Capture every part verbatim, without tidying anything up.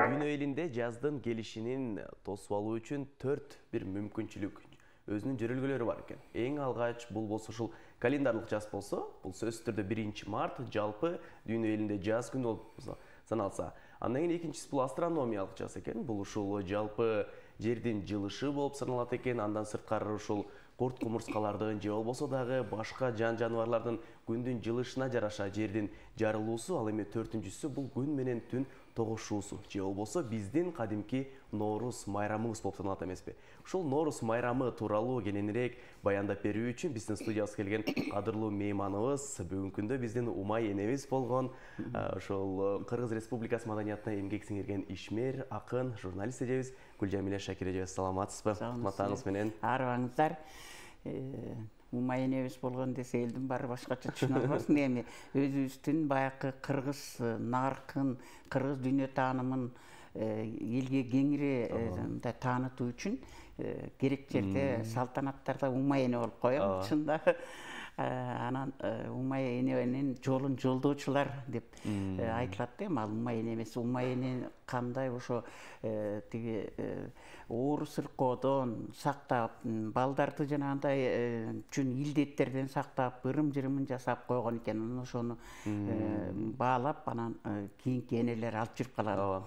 Дүйнө элинде жаздын келишинин тосуп алуу үчүн төрт бир мүмкүнчүлүк, өзүнүн жөрөлгөлөрү бар экен. Эң алгач бул болсо ушул календарлык жаз болсо, бул сөзсүз түрдө биринчи март жалпы дүйнө элинде жаз күнү болуп саналса. Андан кийин экинчиси бул астрономиялык жаз экен. Бул ушул жалпы жердин жылышы болуп саналат экен. Андан сырткары ушул курт кумурскалардын же болбосо дагы башка жан жаныбарлардын күндүн жылышына жараша жердин жарылуусу, ал эми төртүнчүсү бул күн менен түн тогушуусу же болбосо биздин кадимки Ноорус майрамыбыз болуп саналат эмеспи? Ушул Ноорус майрамы тууралуу кененирээк баяндап берүү үчүн биздин студиябызга келген кадырлуу мейманыбыз бүгүнкү күндө биздин Умай энебиз болгон ошол Кыргыз Республикасы маданиятына эмгек сиңирген ишмер, акын, журналист эжебиз Гүлжамиля Шакир эжебиз. Саламатсызбы? Матаңыз менен. Арыбаңыздар. Умай энебиз болгон десе элдин баары башкача түшүнө албасын. Эми өзүбүздүн баягы кыргыз наркын, кыргыз дүйнө таанымын элге кеңири мындай таанытуу үчүн керек жерде салтанаттарда Умай эне болуп коем. Чында анан Умай эненин жолун жолдоочулар деп айтылат да. Ал Умай эне эмес. Умай эне кандай ошо тиги оор сыркоодон сактап, балдарды жанагындай чүн илдеттерден сактап, ырым-жырымын жасап койгон экен. Анан ошону баалап, анан кийинки энелер алып жүрүп калат.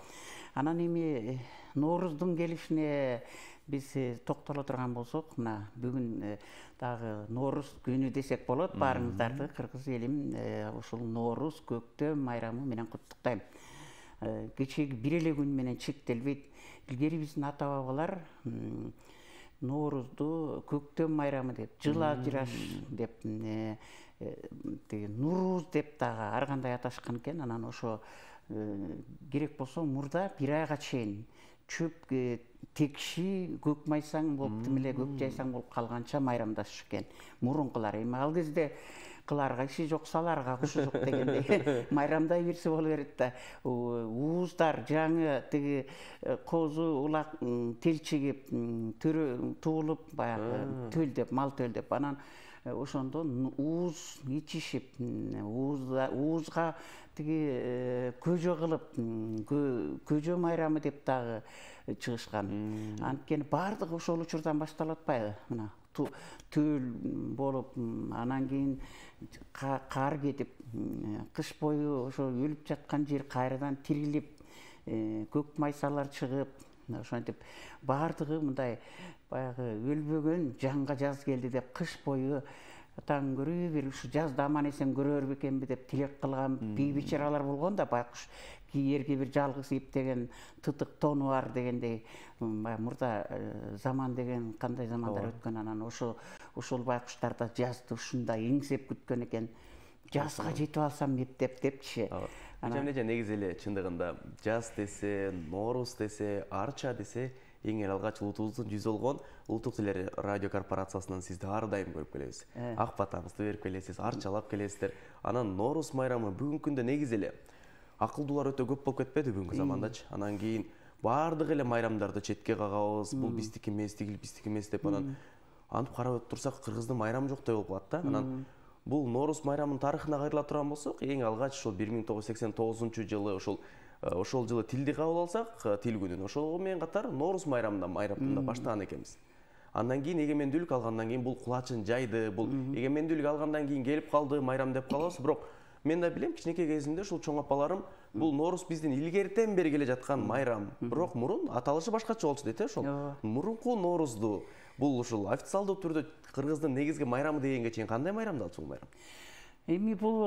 Анан эми Нооруздун келишине биз токтоло турган болсок, мына бүгүн дагы Ноорус күнү десек болот. Баарыңыздарды кыргыз элим ушул Ноорус көктөм майрамы менен куттуктайм. Кечеги бир эле күн менен чектелбейт. Илгери биздин ата бабалар Ноорузду көктөм майрамы деп, жыл ажыраш деп, Нуруз деп дагы ар кандай аташкан экен. Анан ошо керек болсо мурда бир айга чейин чөп текши, көк майсаң болуп, тим эле көк жайсаң болуп калганча майрамдашчу экен мурункулар. Эми ал кезде кыларга иши жок, саларга кушу жок дегендей майрамдай берсе боло берет да. Ууздар жаңы тиги козу, улак телчигип, туулуп, баягы төл деп, мал төл деп, анан ошондо ууз ичишип, уузга тиги көжө кылып, көжө майрамы деп дагы чыгышкан. Анткени баардыгы ошол учурдан башталып атпайбы? Мына төл болуп, анан кийин кар кетип, кыш бою ошо өлүп жаткан жер кайрадан тирилип, көк майсалар чыгып, ошентип баардыгы мындай баягы өлбөгөн жанга жаз келди деп кыш бою таң көрүү бир ушу жазда аман эсен көрөр бекенби деп тилек кылган бий бечаралар болгон да. Байкуш кийерге бир жалгыз иптеген тытык тону бар дегендей мурда заман деген кандай замандар өткөн. Анан ошо ошол байкуштар да жазды ушундай эңсеп күткөн экен. Жазга жетип алсам эптеп депчи. Жамиле негизи эле чындыгында жаз десе, Ноорус десе, Арча десе эң эле алгач улутубуздун жүзү болгон Улуттук теле радио корпорациясынан сизди ар дайым көрүп келебиз. Ак батаңызды берип келесиз, арчалап келесиздер. Анан Ноорус майрамы бүгүнкү күндө негизи эле акылдуулар өтө көп болуп кетпеди бүгүнкү замандачы. Анан кийин баардык эле майрамдарды четке кагабыз, бул биздики эмес, тигил биздики эмес деп анан антип карап турсак Кыргыздын майрамы жоктой болуп калат да. Анан бул Ноорус майрамынын тарыхына кайрыла турган болсок, эң алгач ошол бир миң тогуз жүз сексен тогузунчу жылы ошол ошол жылы тилди кабыл алсак, тил күнүн ошол менен катар Ноорус майрамында майрамында баштаган экенбиз. Андан кийин эгемендүүлүк алгандан кийин бул кулачын жайды, бул эгемендүүлүк алгандан кийин келип калды майрам деп калабыз. Бирок мен да билем, кичинекей кезимде ушул чоң апаларым бул Ноорус биздин илгертен бери келе жаткан майрам. Бирок мурун аталышы башкача болчу дейт, ошол. Мурунку Ноорузду бул ушул официалдуу түрдө Кыргыздын негизги майрамы дегенге чейин кандай майрамдалчу бул майрам? Эми бул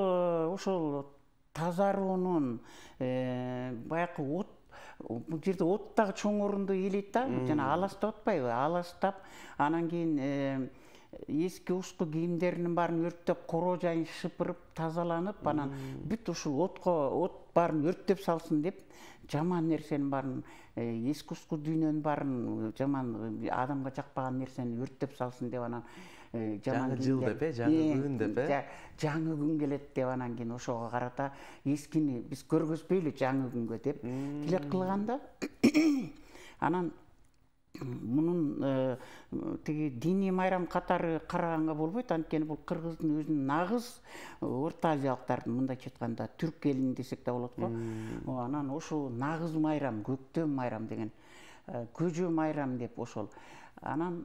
ошол тазаруунун баягы от, бул жерде от дагы чоң орунду ээлейт да. Жана аластап атпайбы? Аластап, анан кийин эски ушку кийимдеринин баарын өрттөп, короо жайын шыпырып, тазаланып, анан бүт ушул отко от баарын өрттөп салсын деп, жаман нерсенин баарын, эски ушку дүйнөнүн баарын, жаман адамга жакпаган нерсени өрттөп салсын деп, анан жаңы жыл деп, жаңы күн деп, жаңы күн келет деп, анан кийин ошого карата эскини биз көргөзбөйлү жаңы күнгө деп тилек кылганда, анан мунун тиги диний майрам катары караганга болбойт, анткени бул кыргыздын өзүнүн нагыз Орто Азиялыктардын, мындайча айтканда түрк элинин десек да болот го. Анан ошол нагыз майрам, көктөм майрам деген, көжө майрам деп ошол. Анан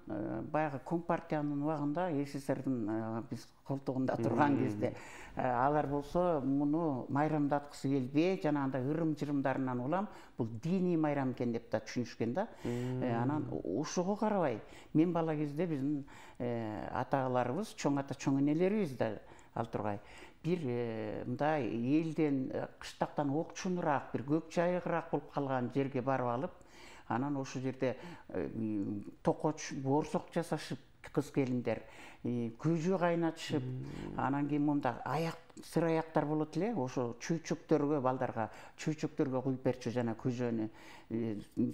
баягы Компартиянын убагында, СССРдин биз колтугунда турган кезде алар болсо муну майрамдаткысы келбей, жанагындай ырым-жырымдарынан улам бул диний майрам экен деп да түшүнүшкөн да. Анан ошого карабай мен бала кезде биздин аталарыбыз, чоң ата, чоң энелерибиз да ал тургай бир мындай элден, кыштактан окчунураак, бир көк жайыгыраак болуп калган жерге барып алып, анан ошол жерде токоч, боорсок жасашып, кыз келиндер көжө кайнатышып, анан кийин монда аяк, сыр аяктар болот эле, ошо чөйчөктөргө, балдарга чөйчөктөргө куюп берчү жана көжөнү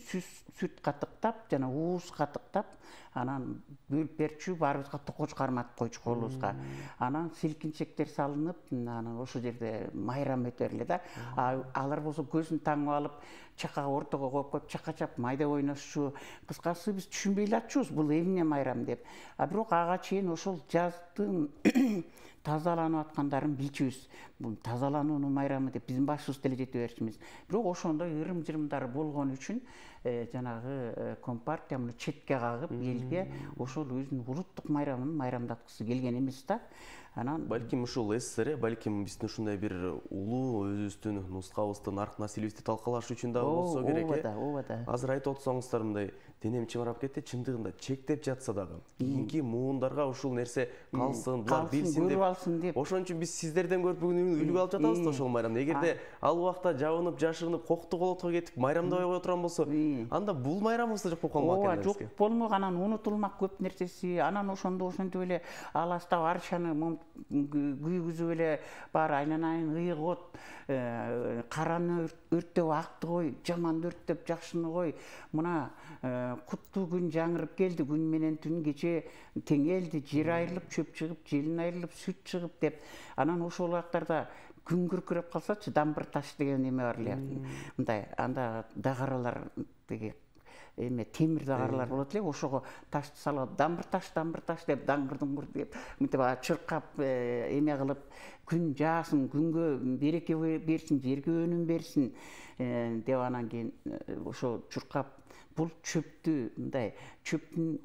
сүт катыктап, жана ууз катыктап, анан бөлүп берчү, баарыбызга токоч карматып койчу колубузга. Анан силкинчектер салынып, анан ошол жерде майрам өтөр эле да. Алар болсо көзүн таңып алып, чакага ортого коюп коюп, чакачап майда ойношчу. Кыскасы биз түшүнбөй эле атчубуз бул эмне майрам деп. А бирок ага чейин ошол жаздын тазаланып аткандарын билчүбүз. Бул тазалануунун майрамы деп биздин башыбыз деле жете берчүбүз. Бирок ошондой ырым-жырымдар болгон үчүн жанагы Компартия муну четке кагып, элге ошол өзүнүн улуттук майрамын майрамдаткысы келген эмес да. Анан балким ушул СССР, балким биздин ушундай бир улуу өзүбүздүн нускабызды, нарк насилибизди талкалаш үчүн да болсо керек. Ооба да, ооба да. Азыр айтып отсоңуздар, мындай денем чымырап кетти, чындыгында чектеп жатса дагы, кийинки муундарга ушул нерсе калсын, булар билсин деп, алсын деп. Ошон үчүн биз сиздерден көрүп бүгүн үлгү алып жатабыз да ошол майрамды. Эгерде ал убакта жабынып, жашынып, кокту колотко кетип майрамдабай кое турган болсо, анда бул майрамыбыз жок болуп калмак экен. Ооба, жок болмок, анан унутулмак көп нерсеси. Анан ошондо ошентип эле аластап арчаны күйгүзүп эле бар айланайын ыйык от, караны өрттөп акты кой, жаманды өрттөп жакшыны кой. Мына куттуу күн жаңырып келди, күн менен түн кече теңелди, жер айрылып, чөп чыгып, желин айрылып, сүт чыгып деп. Анан ошол убактарда күн күркүрөп калсачы, дамбыр таш деген эме бар эле. Мындай, анда дагаралар деги эме темир дагаралар болот эле, ошого ташты салып, дамбыр таш, дамбыр таш деп, даңгыр-дуңгур деп, мынтип чыркап эме кылып, күн жаасын, күнгө береке берсин, жерге өнүм берсин деп, анан кийин ошо чуркап, бул чөптү, мындай чөптүн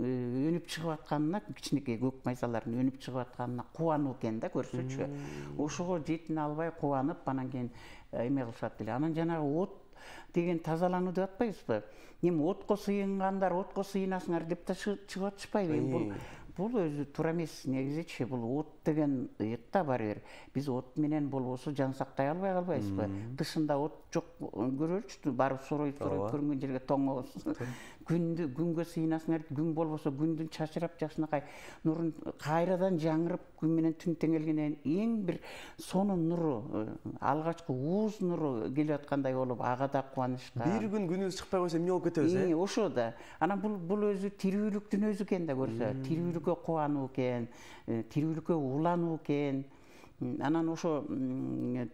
өнүп чыгып атканына, кичинекей көк майсалардын өнүп чыгып атканына кубануу экен да, көрсөчү. Ошого жетине албай кубанып, анан кийин эме кылышат эле. Анан жанагы от деген тазалануу деп атпайбызбы? Эми отко сыйынгандар отко сыйынасыңар деп да чыгып атышпайбы? Бул бул өзү туура эмес негизичи. Бул от деген ыйык да баары бир. Биз от менен болбосо жан сактай албай калбайбызбы? Тышында от жок көрөлүчү, барып соройт соройт көрүнгөн жерге тоңобуз. Күндү күнгө сыйынасыңар, күн болбосо күндүн чачырап жакшынакай нурун кайрадан жаңырып, күн менен түн теңелгенден эң бир сонун нуру, алгачкы ууз нуру келип аткандай болуп, ага да кубанычка. Бир күн күнүбүз чыкпай койсо эмне болуп кетебиз, э? Ошо да. Анан бул бул өзү тирүүлүктүн өзү экен да, көрсө. Тирүүлүккө кубануу экен, тирүүлүккө улануу экен. Анан ошо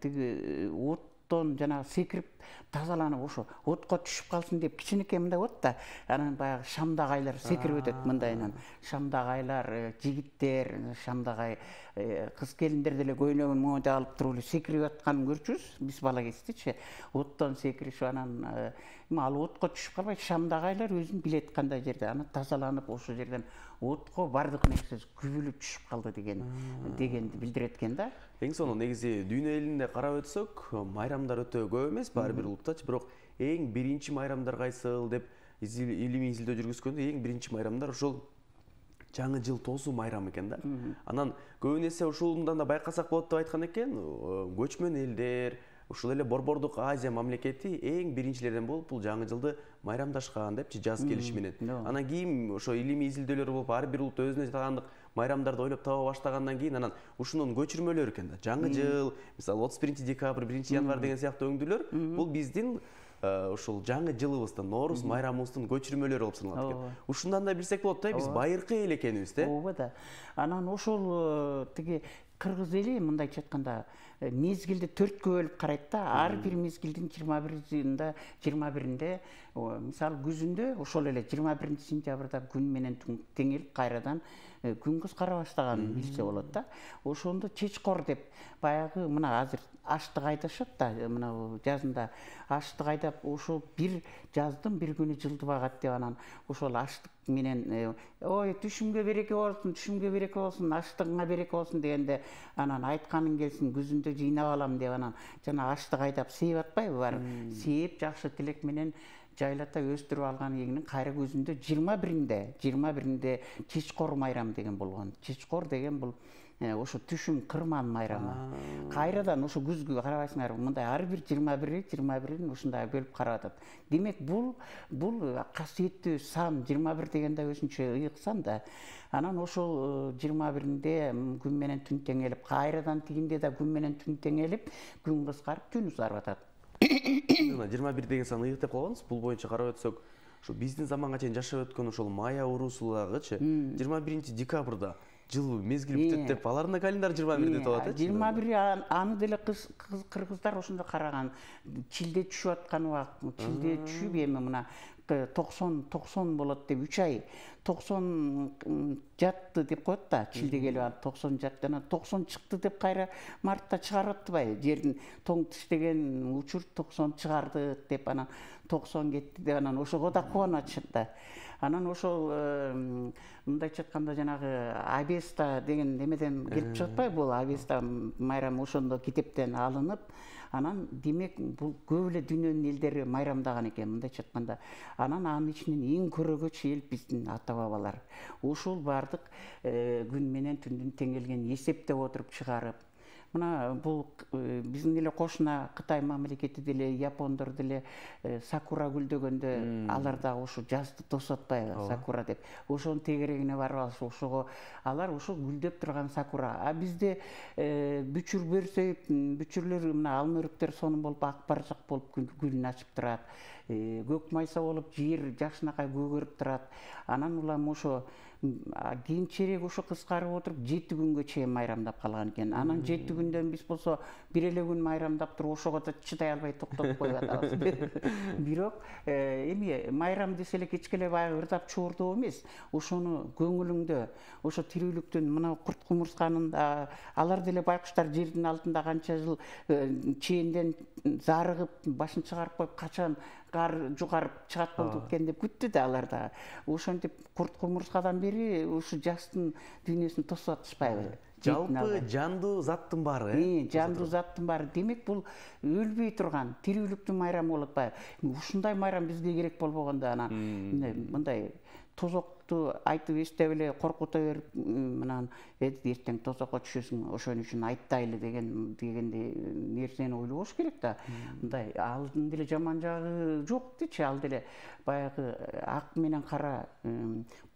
тиги оттон жана секирип тазаланып, ошо отко түшүп калсын деп кичинекей мындай от да. Анан баягы шамдагайлар секирип өтөт мындайынан. Шамдагайлар, жигиттер, шамдагай кыз келиндер деле көйнөгүн моундай алып туруп эле секирип атканын көрчүбүз биз бала кездечи. Оттон секиришип, анан ал отко түшүп калбай, шамдагайлар өзүн билет кандай жерде. Анан тазаланып, ошол жерден отко бардык нерсеси күбүлүп түшүп калды деген дегенди билдирет экен да. Эң сонун негизи дүйнө элинде карап өтсөк, майрамдар өтө көп эмес, баары бир улуттачы, бирок эң биринчи майрамдар кайсыл деп илимий изилдөө жүргүзгөндө эң биринчи майрамдар ошол жаңы жыл тосуу майрамы экен да. Анан көбүнесе ушундан да байкасак болот деп айткан экен, көчмөн элдер, ушул эле Борбордук Азия мамлекети эң биринчилерден болуп бул жаңы жылды майрамдашкан депчи, жаз келиши менен. Анан кийин ошо илимий изилдөөлөр болуп, ар бир улут өзүнө таандык майрамдарды ойлоп таба баштагандан кийин анан ушунун көчүрмөлөрү экен да. Жаңы жыл, мисалы отуз биринчи декабрь, биринчи январь деген сыяктуу өңдүүлөр, бул биздин ушул жаңы жылыбыздын, Норуз майрамыбыздын көчүрмөлөрү болуп саналат экен. Ушундан да билсек болот да, биз байыркы эл экенибиз да. Ооба да. Анан ошол тиги кыргыз эли мындайча айтканда мезгилди төрткө бөлүп карайт да. Ар бир мезгилдин жыйырма бир жылында жыйырма биринде мисалы күзүндө ошол эле жыйырма биринчи сентябрда күн менен түн теңелип кайрадан күн кызкара баштаганын билсе болот да. Ошондо чечкор деп баягы мына азыр аштык айдашат да, мына жазында аштык айдап ошол бир жаздын бир күнү жылдып агат деп анан ошол аштык менен ой түшүмгө береке болсун, түшүмгө береке болсун, аштыгыңа береке болсун дегенде анан айтканың келсин күзүндө жыйнап алам деп анан жана аштык айдап сээп атпайбы баары. Сээп жакшы тилек менен жайлата өстүрүп алган эгинин кайра көзүндө жыйырма биринде жыйырма биринде чечкор майрам деген болгон. Чечкор деген бул ошо түшүм кырман майрамы. Кайрадан ошо күзгү карабайсыңарбы, мындай ар бир жыйырма бири жыйырма бирин ушундай бөлүп карап атат. Демек бул бул касиеттүү сан, жыйырма бир деген да өзүнчө ыйык сан да. Анан ошол жыйырма биринде күн менен түн теңелип, кайрадан тигинде да күн менен түн теңелип, күн кыскарып, түн узарып атат. жыйырма бир деген сан ыйык деп калганбыз. Бул боюнча карап өтсөк, ошо биздин заманга чейин жашап өткөн ошол майя уруусу дагычы жыйырма биринчи декабрда жыл мезгил бүтөт деп алардын да календарь жыйырма бирде деп атат. жыйырма бир аны деле кыргыздар ошондо караган. Чилде түшүп аткан убакыт, чилде түшүп эми мына токсон токсон болот деп үч ай токсон жатты деп коет да. Чилде келип анан токсон жатты, анан токсон чыкты деп кайра мартта чыгарып атпайбы? Жердин тоң тиштеген учур токсон чыгарды деп анан токсон кетти деп анан ошого да кубанып атышат да. Анан ошол мындайча айтканда жанагы Авеста деген немеден келип чыгып атпайбы? Бул Авеста майрамы ошондо китептен алынып, анан демек бул көп эле дүйнөнүн элдери майрамдаган экен, мындайча айтканда. Анан анын ичинен эң көрөгөч эл биздин ата бабалар. Ушул бардык күн менен түндүн теңелген эсептеп отуруп чыгарып, мына бул биздин эле кошуна Кытай мамлекети деле, япондор деле сакура гүлдөгөндө алар да ошо жазды тосуп атпайбы, сакура деп. Ошонун тегерегине барып алыш, ошого алар ошо гүлдөп турган сакура. А бизде бүчүр берсейт, бүчүрлөр мына алма өрүктөр сонун болуп ак баржак болуп гүлүн ачып турат. Көк майса болуп жер жакшынакай көгөрүп турат. Анан улам ошо кийинчерээк ошо кыскарып отуруп жети күнгө чейин майрамдап калган экен. Анан жети күндөн биз болсо бир эле күн майрамдап туруп ошого да чыдай албай токтотуп коюп атабыз. Бирок эми майрам десе эле кечке эле баягы ырдап чуурдоо эмес. Ошону көңүлүңдө, ошо тирүүлүктүн мына курт кумурсканын алар деле байкуштар жердин алтында канча жыл чээнден зарыгып, башын чыгарып коюп качан кар жугарып чыгат болду экен деп күттү да алар да. Ошентип курт кумурскадан бери ушу жаштын дүйнөсүн тосуп атышпайбы? Жалпы жандуу заттын баары, э? Жандуу заттын баары. Демек бул өлбөй турган тирүүлүктүн майрамы болуп атпайбы? Ушундай майрам бизге керек болбогондо анан мындай тозокту айтып эстеп эле коркута берип, мынан эртең тозокко түшөсүң, ошон үчүн айтпайлы деген дегенде нерсени ойлобош керек да. Мындай алдын деле жаман жагы жок дечи, ал деле баягы ак менен кара,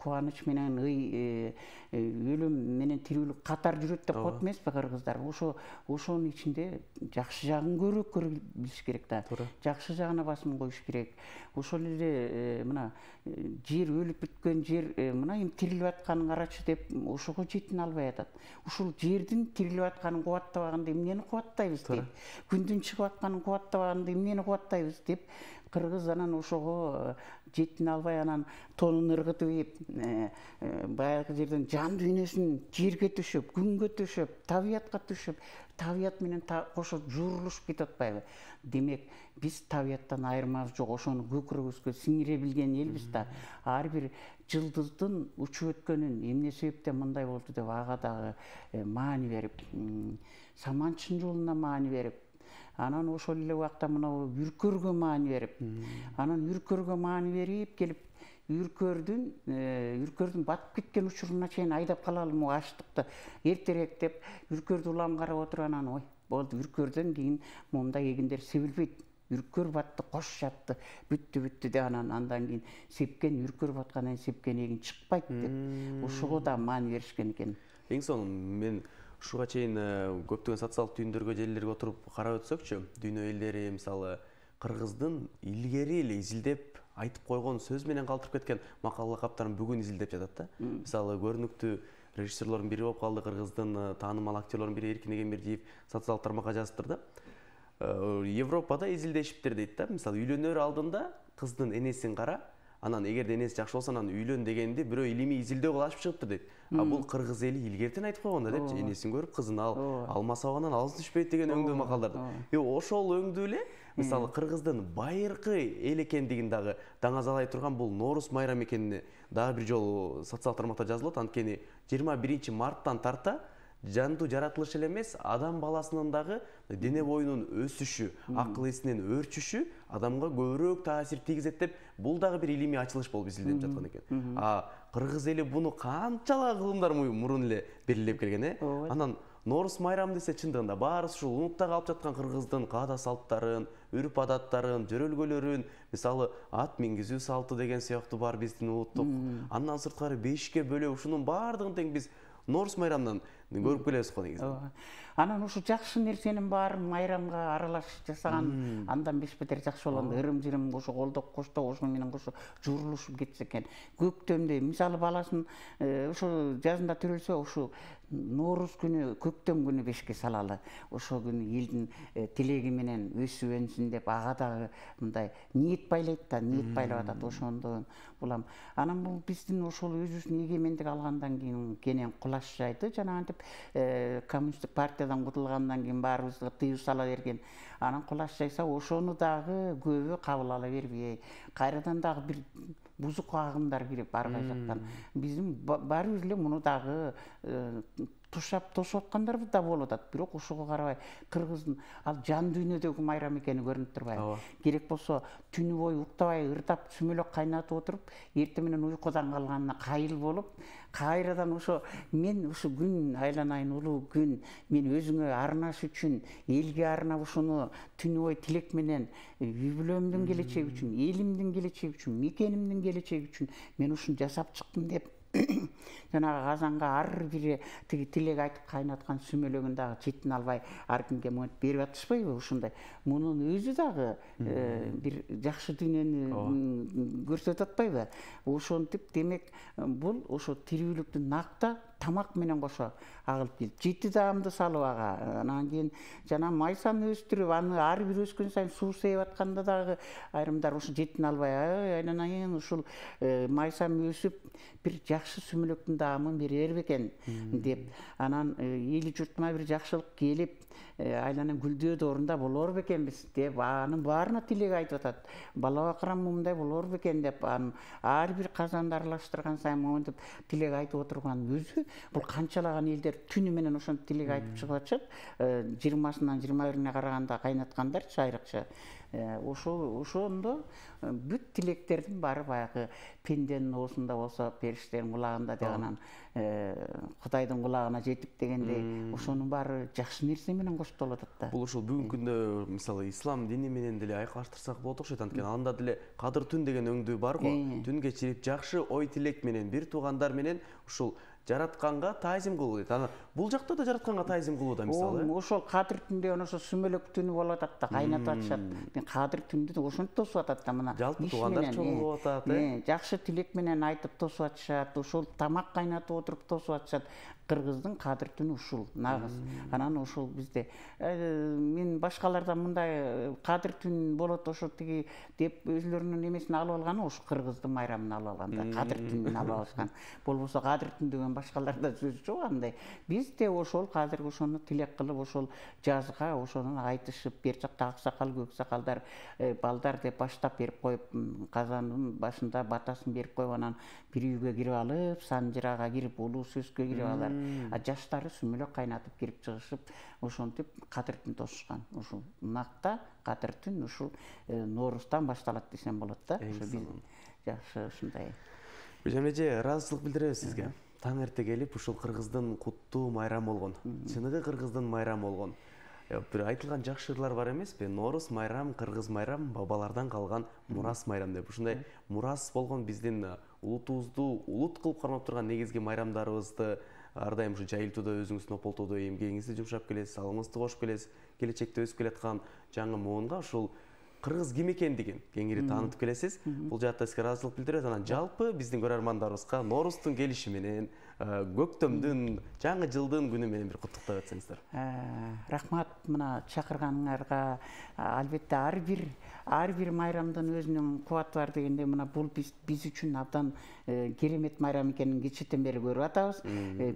кубаныч менен ый, өлүм менен тирүүлүк катар жүрөт деп коет эмеспи кыргыздар? Ошо ошонун ичинде жакшы жагын көрө көрө билиш керек да. Жакшы жагына басым коюш керек. Ошол эле мына жер өлүп бүткөн жер мына эми тирилип атканын карачы деп ошого жетин албай атат. Ушул жердин тирилип атканын кубаттабаганда эмнени кубаттайбыз деп, күндүн чыгып атканын кубаттабаганда эмнени кубаттайбыз деп кыргыз анан ошого жетин албай анан тонун ыргытып ийип, баягы жерден жан дүйнөсүн жерге төшөп, күнгө төшөп, табиятка төшөп, табият менен кошо жуурулушуп кетип атпайбы? Демек биз табияттан айырмабыз жок, ошону көкүрөгүбүзгө сиңире билген элбиз да. Ар бир жылдыздын учуп өткөнүн эмне себептен мындай болду деп ага дагы маани берип, саманчын жолуна маани берип, анан ошол эле убакта мына үркөргө маани берип, анан үркөргө маани берип келип үркөрдүн үркөрдүн батып кеткен учуруна чейин айдап калалы могу аштыкты эртерээк деп үркөрдү улам карап отуруп анан ой болду, үркөрдөн кийин моундай эгиндер себилбейт, үркөр батты, кош жатты, бүттү бүттү деп анан андан кийин сепкен үркөр баткандан сепкен эгин чыкпайт деп ошого да маани беришкен экен. Эң сонун мен ушуга чейин көптөгөн социалдык түйүндөргө, желилерге отуруп карап өтсөкчү, дүйнө элдери мисалы кыргыздын илгери эле изилдеп айтып койгон сөз менен калтырып кеткен макал лакаптарын бүгүн изилдеп жатат да. Мисалы көрүнүктүү режиссерлордун бири болуп калды, кыргыздын таанымал актерлордун бири Эркин Эгембердиев социалдык тармакка жазыптыр да. Европада изилдешиптир дейт да. Мисалы, үйлөнөр алдында кыздын энесин кара, анан эгерде энеси жакшы болсо анан үйлөн дегенди бирөө илимий изилдөө кылып ачып чыгыптыр дейт. А бул кыргыз эли илгертен айтып койгон да депчи, энесин көрүп кызын ал алмаса абынан алыс түшпөйт деген өңдүү макалдарды. И ошол өңдүү эле мисалы кыргыздын байыркы эл экендигин дагы даңазалай турган бул Нооруз майрамы экенине дагы бир жолу социалдык тармакта жазылат. Анткени жыйырма биринчи марттан тарта жандуу жаратылыш эле эмес, адам баласынын дагы дене боюнун өсүшү, акыл эсинин өөрчүшү адамга көбүрөөк таасир тийгизет деп бул дагы бир илимий ачылыш болуп изилденип жаткан экен. А кыргыз эли буну канчалык кылымдар мурун эле белгилеп келген, э? Анан Нооруз майрамы десе чындыгында баарыбыз ушул унутта калып жаткан кыргыздын каада салттарын, үрп адаттарын, жөрөлгөлөрүн, мисалы ат мингизүү салты деген сыяктуу бар биздин улуттук. Андан сырткары бешикке бөлөө, ушунун баардыгын тең биз Нооруз майрамынан көрүп келебиз го негизи. Анан ушу жакшы нерсенин баарын майрамга аралашып жасаган андан беш бетер жакшы болгон. Ырым-жырым ошо колдоп коштоп ошо менен кошо журулушуп кетсе экен. Көктөмдө мисалы баласын ошо жазында төрөлсө, ошо Нооруз күнү, көктөм күнү бешикке салалы. Ошол күнү элдин тилеги менен өсүп өнсүн деп ага дагы мындай ниет байлайт да, ниет байлап атат ошондон булам. Анан бул биздин ошол өзүбүздүн эгемендик алгандан кийин кенен кулаш жайды. Жанагынтип коммунисттик партиядан кутулгандан кийин баарыбызга тыюу сала берген. Анан кулаш жайса ошону дагы көбү кабыл ала бербей, кайрадан дагы бир бузук агымдар кирип ар кай жактан биздин баарыбыз эле муну дагы тушап тосуп аткандарбыз да болуп атат. Бирок ошого карабай кыргыздын ал жан дүйнөдөгү майрам экени көрүнүп турбайбы? Керек болсо түнү бою уктабай ырдап сүмөлөк кайнатып отуруп, эртең менен уйкудан калганына кайыл болуп, кайрадан ошо мен ушу күн айланайын улуу күн, мен өзүңө арнаш үчүн, элге арнап ушуну түнү бою тилек менен үй бүлөмдүн келечеги үчүн, элимдин келечеги үчүн, мекенимдин келечеги үчүн мен ушуну жасап чыктым деп жанагы казанга ар бири тиги тилек айтып кайнаткан сүмөлөгүн дагы четин албай ар кимге монтип берип атышпайбы ушундай. Мунун өзү дагы бир жакшы дүйнөнү көрсөтүп атпайбы? Ошентип демек бул ошо тирүүлүктү накта тамак менен кошо агылып келип, жети даамды салып ага, анан кийин жана майсаны өстүрүп, аны ар бир өскөн сайын суу сээп атканда дагы айрымдар ушу жетин албай, айланайын ушул майсам өсүп бир жакшы сүмөлөктүн даамын берер бекен деп, анан эли журтума бир жакшылык келип, айланан гүлдөө доорунда болор бекенбиз деп анын баарына тилек айтып атат. Бала бакырам мындай болор бекен деп анын ар бир казанды аралаштырган сайын монтип тилек айтып отурган өзү бул канчалаган элдер түнү менен ошентип тилек айтып чыгып атышат. жыйырмасынан жыйырма бирине караганда кайнаткандарчы айрыкча. Ошо ошондо бүт тилектердин баары баягы пенденин оозунда болсо периштенин кулагында дегенен Кудайдын кулагына жетип дегендей, ошонун баары жакшы нерсе менен коштолуп атат да. Бул ушул бүгүнкү күндө мисалы ислам дини менен деле айкалаштырсак болот окшойт. Анткени анда деле кадыр түн деген өңдүү бар го. Түн кечирип жакшы ой тилек менен бир туугандар менен ушул жаратканга таазим кылуу дейт. Анан бул жакта да жаратканга таазим кылууда мисалы. Ошол кадыр түндө ошо сүмөлөк түнү болуп атат да, кайнатып атышат. Мен кадыр түндү ошентип тосуп атат да, мына. Жалпы туугандар чогулуп атат, э. Жакшы тилек менен айтып тосуп атышат, ошол тамак кайнатып отуруп тосуп атышат. Кыргыздын кадыр түнү ушул нагыз. Анан ошол бизде мен башкалардан мындай кадыр түн болот ошо тиги деп өзлөрүнүн эмесин алып алганы ошо кыргыздын майрамын алып алган да, кадыр түнүн алып алышкан. Болбосо кадыр түн деген башкаларда сөз жок андай. Биз де ошол казыр ошону тилек кылып, ошол жазга ошону айтышып, бер жакта ак сакал, көк сакалдар, балдар деп баштап берип коюп, казандын башында батасын берип коюп, анан бир үйгө кирип алып, санжырага кирип, улуу сөзгө кирип алар. А жаштары сүмөлөк кайнатып кирип чыгышып, ошентип кадыр түн тосушкан. Ушул накта кадыр түн ушул Нооруздан башталат десем болот да. Ошо биз жакшы ушундай. Гүлжан эже, ыраазычылык билдиребиз сизге. Таң эрте келип ушул кыргыздын куттуу майрамы болгон. Чыныгы кыргыздын майрамы болгон. Бир айтылган жакшы ырлар бар эмеспи? Нооруз майрам, кыргыз майрам, бабалардан калган мурас майрам деп. Ушундай мурас болгон биздин улутубузду улут кылып кармап турган негизги майрамдарыбызды ар дайым ушу жайылтууда өзүңүздүн ополтоодо эмгегиңизди жумшап келесиз, алымыңызды кошуп келесиз. Келечекте өсүп келаткан жаңы муунга ушул кыргыз ким экендигин кеңири таанытып келесиз. Бул жаатта сизге ыраазычылык билдирет. Анан жалпы биздин көрөрмандарыбызга Ноорустун келиши менен, көктөмдүн, жаңы жылдын күнү менен бир куттуктап өтсөңүздөр. Рахмат мына чакырганыңарга. Албетте ар бир ар бир майрамдын өзүнүн кубаты бар дегенде мына бул биз биз үчүн абдан керемет майрам экенин кечээден бери көрүп атабыз.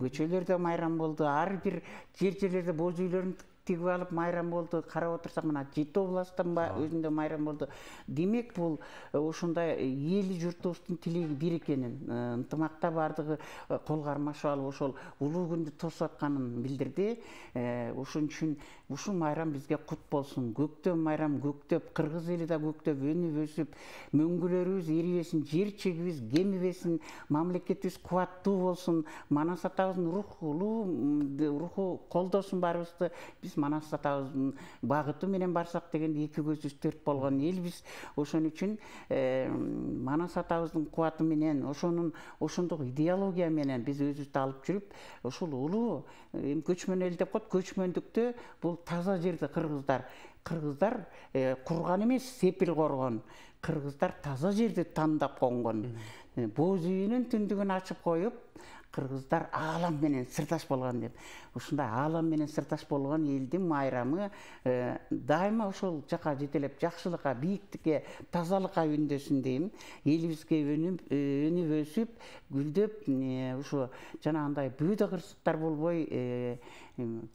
Көчөлөрдө майрам болду, ар бир жер-жерлерде боз үйлөрүн тигип алып майрам болду. Карап отурсак мына Жети областтын өзүндө майрам болду. Демек бул ошондой эли журтубуздун тилеги бир экенин, ынтымакта бардыгы кол кармашып алып ошол улуу күндү тосуп атканын билдирди. Ошон үчүн ушул майрам бизге кут болсун. Көктөм майрам көктөп, кыргыз эли да көктөп, өнүп өсүп, мөңгүлөрүбүз эрибесин, жер чегибиз кемибесин, мамлекетибиз кубаттуу болсун. Манас атабыздын руху руху колдосун баарыбызды. Биз Манас атабыздын багыты менен барсак дегенде эки көзүбүз төрт болгон элбиз. Ошон үчүн Манас атабыздын кубаты менен, ошонун ошондук идеология менен биз өзүбүздү алып жүрүп, ушул улуу көчмөн эл деп коет, көчмөндүктө бул таза жерди кыргыздар кыргыздар курган эмес, сепил коргон. Кыргыздар таза жерди тандап конгон. Боз үйүнүн түндүгүн ачып коюп, кыргыздар аалам менен сырдаш болгон деп. Ушундай аалам менен сырдаш болгон элдин майрамы дайыма ошол жака жетелеп, жакшылыкка, бийиктикке, тазалыкка үндөсүн дейм. Элибизге өнүп, өнүп өсүп, гүлдөп, ушу жанагындай бүйдө кырсыктар болбой,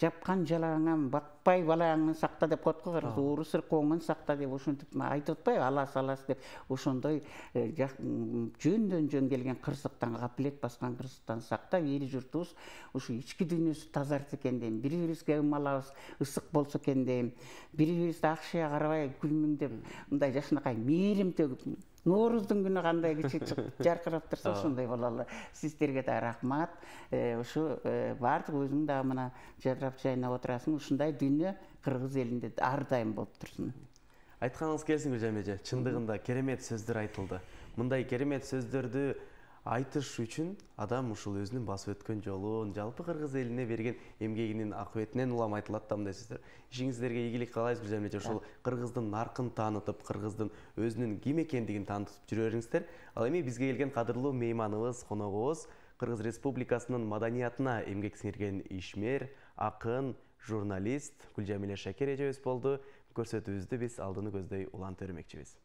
жапкан жалаңан бакпай балаңын сакта деп коет го, кыргыз ууру сыркооңун сакта деп ошентип айтып атпайбы, алас алас деп. Ошондой жөндөн жөн келген кырсыктан, капилет баскан кырсыктан сактап, эли журтубуз ушу ички дүйнөсү тазарт экен дейм. Бири-бирибизге ымалабыз ысык болсо экен дейм. Бири-бирибизди акшыя карабай, күлмүңдеп, мындай жашынакай мээрим төгүп, Нооруздун күнү кандай кичи жаркырап турса ошондой бололу. Сиздерге да рахмат. Ушу баардык өзүң дагы мына жадырап жайнап отурасың. Ушундай дүйнө кыргыз элинде ар дайым болуп турсун. Айтканыңыз келсин Гүлжан эже, чындыгында керемет сөздөр айтылды. Мындай керемет сөздөрдү айтыш үчүн адам ушул өзүнүн басып өткөн жолун, жалпы кыргыз элине берген эмгегинин акыбетинен улам айтылат да мындай сөздөр. Ишиңиздерге ийгилик каалайбыз Гүлжан эже, ушул кыргыздын наркын таанытып, кыргыздын өзүнүн ким экендигин таанытып жүрө бериңиздер. Ал эми бизге келген кадырлуу мейманыбыз, коногубуз Кыргыз Республикасынын маданиятына эмгек сиңирген ишмер, акын, журналист Гүлжамиле Шакер эжебиз болду. Көрсөтүүбүздү биз алдыны көздөй улантып бермекчибиз.